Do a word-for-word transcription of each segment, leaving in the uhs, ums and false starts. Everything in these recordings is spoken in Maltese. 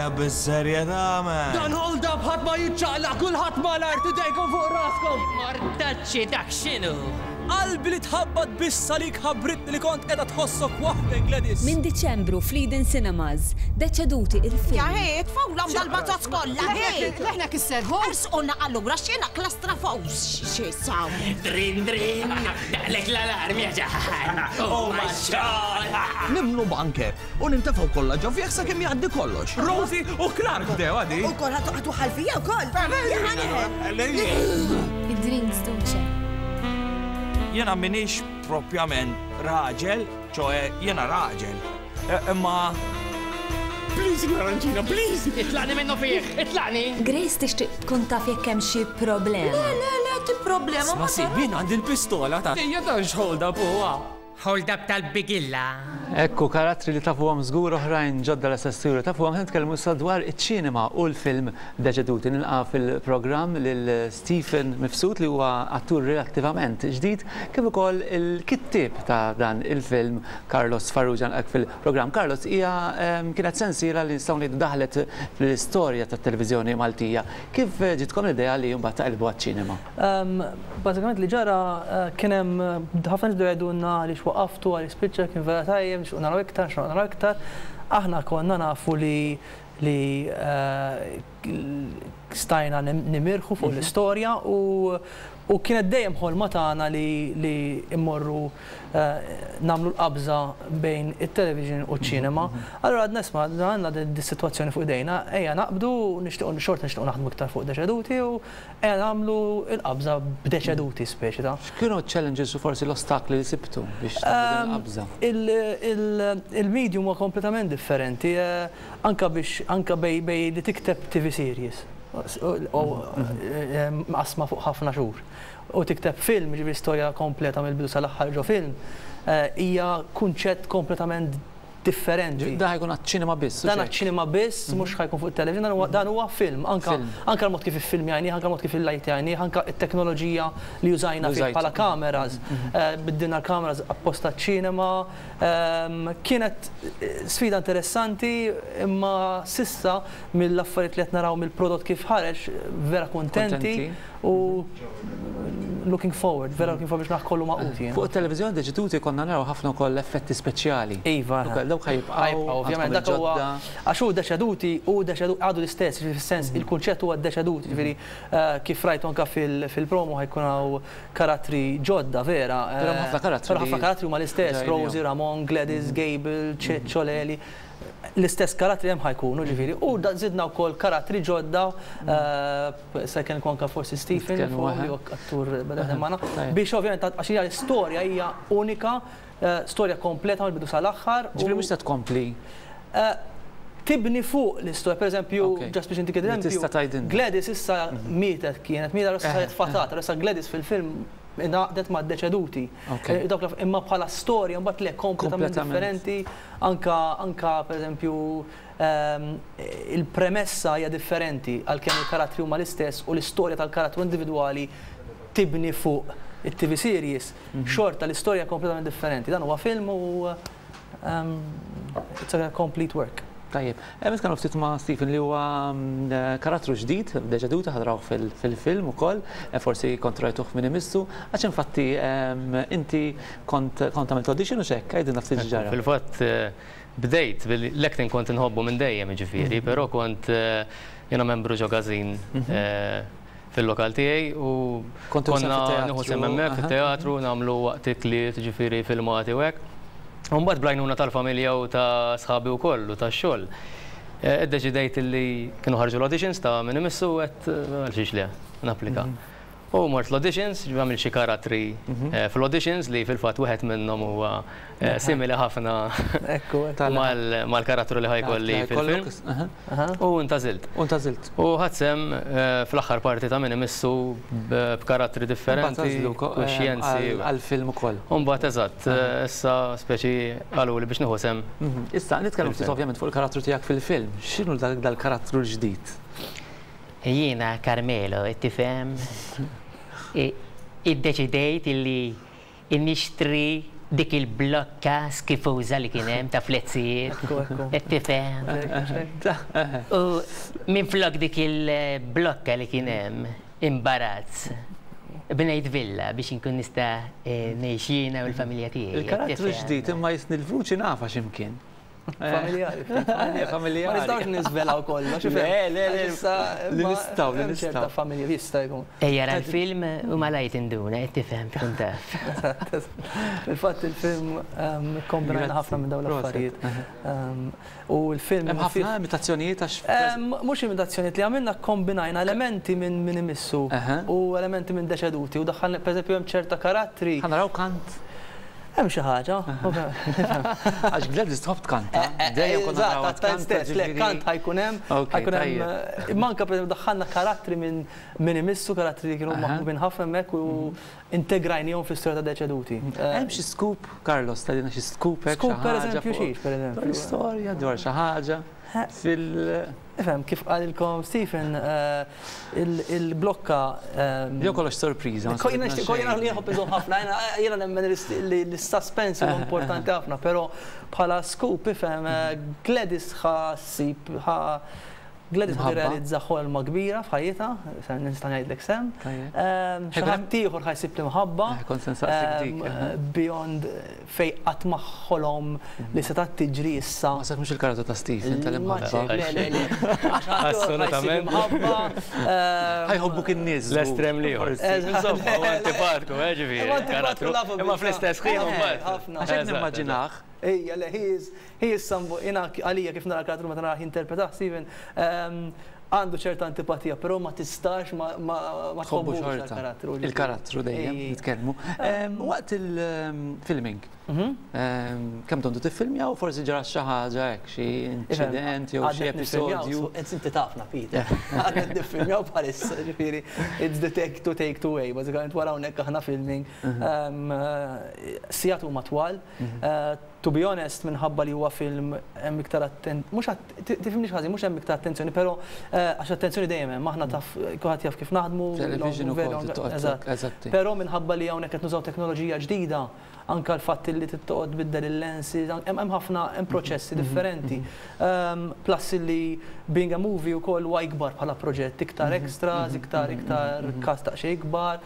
Ejja, bis-serjetà, man. Dan hold up ħadd ma jiċċaqlaq, kulħadd mal-art, idejkom fuq raskom. Mortacci, dak x'inhu? Qalbi li tħabbat biss għalik ħabbritni li kont qiegħda tħossok waħdek, Gladys. Minn Diċembru fl-Eden Cinemas, Deċeduti, il-film. Ja hej, tfawlhom dal-bazzaz kollha, hej! Leħna kisserħu. Ersquna allura x'jiena klastrafos xi saw. Drin, drin, daqlek l-alarm ja ġaħan. Oh my God! Nimlu bunker u nintefgħu kollha ġo fih sakemm jgħaddi kollox. Rosie u Clark bdew għadi. U kol ħatu ħalfija u kol. Id-drinks, Duce. Jena minix propjament raġel, ċoe jena raġel. E, Imma Please, Naranġina, please! Itlaqni minnu fih, itlaqni! Grace tixtieq tkun taf jekk hemm xi problema. Le, le, le, ti problema Ma si, min għandi l-pistola ta' Ejja, dan x'hold up huwa. Hold up tal-bigilla. Ekku, karattri li tafuhom żgur, oħrajn ġodda l-assessuri tafuhom. Ħa nitkellmu issa dwar iċ-ċinema u l-film Deċeduti. Nilqa' fil-programm lil Stephen Mifsud, li huwa attur relattivament ġdid, kif ukoll il-kittieb ta' dan il-film, Carlos Farrugia, nilqak fil-programm. Carlos, hija em, kienet sensiela li nistgħu ngħidu daħlet fl-istorja tat-televiżjoni Maltija. Kif ġitkom l-idea li mbagħad taqilbu għaċ-ċinema? Um, Bażikament li ġara uh, kien hemm uh, ħafna nies bdew jgħidulna għaliex waqaftu, għaliex spiċċa, kien vera tajjeb, nixtiequ naraw iktar, nixtiequ naraw iktar. Aħna konna nafu li li uh, stajna nim- nimirħu fuq l-istorja u u kienet dejjem ħolma tagħna li li immorru uh, nagħmlu l-qabża bejn it-television u ċ-ċinema. Allura għadna, isma', għandna di situazzjoni fuq idejna, ejja naqbdu, nixtiequ xorta nixtiequ naħdmu iktar fuq Deċeduti u ejja nagħmlu l-qabża b'Deċeduti, speċi ta' X'kienu challenges u forsi l-ostakli li sibtu biex tagħmlu din il-qabża? Il- il- Il-medium huwa kompletament differenti, eh, anka biex anka bej bej li tikteb T V series u eh, maqsma fuq ħafna xhur u tikteb film, ġifieri storja kompleta mill-bidu sal-aħħar ġo film, eh, hija kunċett kompletament differenti. Da ħa jkun għaċ-ċinema biss u Dan xejn. għaċ-ċinema biss, mhux ħa jkun fuq il-television, dan huwa- dan huwa film, anka Film. anka l-mod kif iffilmjajni, anka l-mod kif il-lajtjajni, anka it-teknoloġija li użajna fih Użajtu. bħala kameras, eh, biddilna l-kameras apposta ċinema, ehm, kienet eh, sfida interessanti, imma s'issa mill-affarijiet li qed naraw, mill-prodott kif ħareġ, vera kontenti Kontenti. u looking forward, vera looking forward biex naħ kollu maqut jien. Fuq il-televiżjoni Deċeduti konna naraw ħafna wkoll effetti speċjali. Iva. Ukoll dawk ħa jibqgħu? Ħa jibqgħu, ovvjament, dak huwa għax hu Deċeduti u Deċeduti għadu l-istess, ġifieri fis-sens il-kunċett huwa Deċeduti, ġifieri eh, kif rajtu anka fil- fil-promo ħa jkun hawn karattri ġodda vera. Però eh, ħafna karattri Però ħafna li karattri huma l-istess, ġajnihom. Rosie, Ramon, Gladys, Gable, Ċeċċo, Leli. L-istess karattri hemm ħa jkunu, ġifieri. U da zidna wkoll karattri ġodda, eh, se kien anka forsi Stephen, Nitkellmu fuq waħed. li huwa attur beda magħna, Tajjeb. biex ovvjament għax hija l-istorja hija unika, eh, storja kompleta mill-bidu sal-aħħar. Ġifieri u- mhux se tkompli. Eh, tibni fuq l-istorja, per eżempju, Ok. just biex intik Li eżempju, tista' tgħidilna. Gladys issa mietet, kienet mietet, issa saret fatata, issa Gladys fil-film ingħaqdet ma' Deċeduti. Ok. Eh, Dawk l- imma bħala storja mbagħad le, kompletament Kompletament. differenti, anka anka per eżempju ehm, il-premessa hija differenti għalkemm il-karattri huma l-istess u l-istorja tal-karattru individwali tibni fuq it-T V series, xorta l-istorja kompletament differenti. Dan huwa film u um, it's a complete work. Tajjeb, hemm ftit ma' Stephen li huwa mm, eh, karattru ġdid, Deċeduta, ħa narawh fil-film ukoll, eh, forsi kont rajtuh minn imissu, għax infatti em, inti kont kont għamilt audition u xek, għidilna ftit ġara. Fil-fatt eh, bdejt bil-acting, kont inħobbu minn dejjem ġifieri, però kont eh, jiena membru ġo każin eh, fil-lokal tiegħi u Kontu sehem konna fit-teatru, nieħu sehem hemmhekk aha. fit-teatru, nagħmlu waqt ikliet, ġifieri filmati u hekk. U mbagħad bl-għajnuna tal-familja u ta' sħabi wkoll u tax-xogħol, eh, Iddeċidejt li kienu ħarġu l-auditions ta' minn imissu, għedt għal xiex le, napplika. U mort l-auditions, għamil xi karattri eh, fl-auditions li fil-fatt wieħed minnhom huwa eh, simili ħafna Ekku, mal- mal-karattru li ħa jkolli fil-film. U ntgħażilt. U ntgħażilt. U ħadt sehem eh, fl-aħħar parti ta' minn imissu b- b'karattri differenti, u xjenzi. Għal-film ukoll. U mbagħad eżatt, eh, issa speċi qalu li biex nieħu sehem. Mhm. Issa, nitkellmu ftit Fil-film. ovvjament fuq il-karattru tiegħek fil-film. X'inhu dak dal-karattru l-ġdid? Jiena Carmelo, tifhem? Iddeċidejt illi nixtri Dik il-blokka skifuża li kien hemm ta' flezzijiet. Qed tifhem. U minflok dik il-blokka li kien hemm imbarazz. Bnejt villa biex inkun nista' ngħix jiena u l-familja tiegħi. Il-karattru ġdid imma jisni l-vuċi nafa x'imkien. Familjari. Familjari. Ma nistgħux niżvelaw kollox. Le, le, le, li nistgħu, li nistgħu. Familja jista' jkun. Ejja ra l-film u malajt induna, qed tifhem tkun taf. Fil-fatt il-film kombinajna ħafna minn dawn l-affarijiet. U l-film. Hemm ħafna imitazzjonijiet għax. Mhux imitazzjonijiet li għamilna, kombinajna elementi minn min imissu u elementi minn Deċeduti u daħħalna pereżempju hemm ċerta karattri. Ħa naraw kant. Hemm xi ħaġa. Għax Gladys tħobb tkanta. Dejjem konna narawha tkanta. Le, kant ħajkun hemm, ħajkun hemm. Manka pereżempju daħħalna karattri minn min imissu, karattri li kienu maħbubin ħafna hemmhekk u integrajnihom fl-istorja ta' Deċeduti. Hemm xi scoop, Carlos, tgħidilna xi scoop hekk. Scoop pereżempju xiex, pereżempju. Dwar l-istorja, dwar xi ħaġa fil. Ifhem, kif qalilkom Stephen, il-blokka. Jew kollox sorpriża. Jiena nħobb iżomm ħafna, jiena nemmen li l-suspense huwa importanti ħafna, però bħala scoop ifhem Gladys ħassib Gladys ħa tirrealizza ħolma kbira f'ħajjitha, nista' ngħidlek sem. Xi ħadd ieħor ħa jsib l-imħabba. Beyond fej qatt ma ħolom li setgħet tiġri issa. Ma mhux il-karattru ta' Stephen tal-imħabba. Le, le, le. Assolutament. Ħajħobbuk in-nies. L-estrem liħor. Insomma, huwa antipatku, eh, ġifieri. Karattru. Imma fl-istess ħin mbagħad. Għax hekk nimmaġinah. Ejja, le, he is, he is somebody, jiena għalija kif nara karattru meta nara jinterpretah Stephen, għandu ċerta antipatija, però ma tistax ma tħobbux il-karattru. Il-karattru dejjem nitkellmu. Waqt il-filming, kemm tontu tiffilmja u forsi ġara xi ħaġa hekk, xi inċident jew xi episodju. Inti tafna, Peter. Għadna niffilmjaw bħalissa, ġifieri, it's the take to take to way, bażikament wara hawnhekk aħna filming. Sigħat huma twal. To be honest, minħabba li huwa film hemm iktar attent, mhux tifhimniex ħażin, mhux hemm iktar attenzjoni, però għax attenzjoni dejjem hemm, aħna taf kulħadd jaf kif naħdmu. Television ukoll eżatt. Però minħabba li hawnhekk qed nużaw teknoloġija ġdida, anke l-fatt li tittoqgħod tbiddel il-lenses, hemm ħafna hemm proċessi differenti. Plus li being a movie wkoll huwa ikbar bħala proġett, iktar extras, iktar iktar cast daqsxejn ikbar.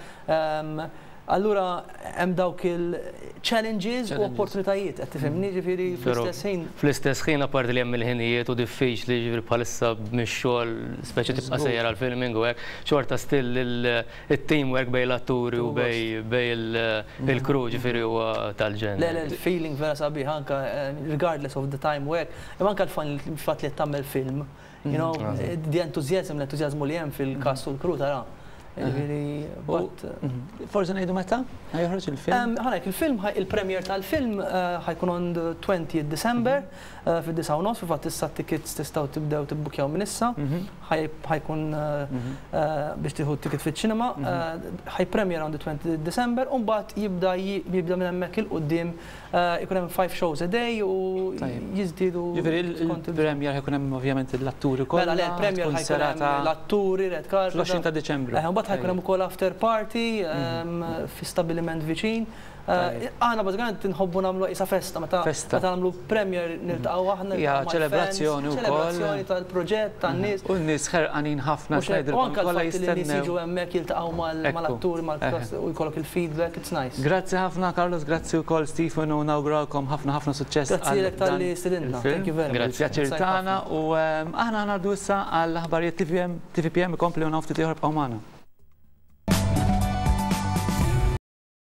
Allura hemm dawk il-challenges u opportunitajiet, qed tifhimni, ġifieri fl-istess ħin. Fl-istess ħin apparti li hemm il-ħinijiet u diffiċli ġifieri bħalissa mix-xogħol speċi tibqa' sejjer għall-filming u hekk, xorta still it-teamwork bejn l-atturi u bejn il-crew ġifieri huwa tal-ġenn. Le, le, il-feeling vera sabiħ anke regardless of the time u hekk, imma anke l-fatt li tagħmel film, you know, the enthusiasm, l-entużjażmu li hemm fil-cast u l-crew tara. Forse ngħidu meta? Joħroġ il-film? Ħanek, il-film, il-premier tal-film ħajkun on the twentieth December fid-disgħa u nofs, fil-fatt issa t-tickets tistgħu tibdew tibbukjaw minn issa. Ħajkun biex tieħu t-ticket fiċ-ċinema, ħaj-premier on the twentieth December, u mbagħad jibda jibda minn hemmhekk 'il quddiem ikun hemm five shows a day u jiżdiedu. Ġifieri il-premier ħajkun hemm ovvjament l-atturi kollha. Mela le, il-premier ħajkun hemm l-atturi, red carpet. Fl-għoxrin ta' Diċembru. Mbagħad ħajkun hemm ukoll after party fi stabiliment viċin. Aħna bażikament nħobbu nagħmlu qisha festa meta meta nagħmlu premier niltaqgħu aħna. Hija ċelebrazzjoni wkoll. Ċelebrazzjoni tal-proġett tan-nies. U n-nies ħerqanin ħafna ngħidilkom kollha jistennew. Nies jiġu hemmhekk jiltaqgħu mal-atturi mal-cast u jkollok il-feedback, it's nice. Grazzi ħafna Carlos, grazzi wkoll Stephen u nawguralkom ħafna ħafna suċċess. Grazzi lilek talli stedintna. Thank you very much. Pjaċir tagħna u aħna ngħaddu issa għall-aħbarijiet T V P M ikompli u naftit ieħor bqgħu magħna.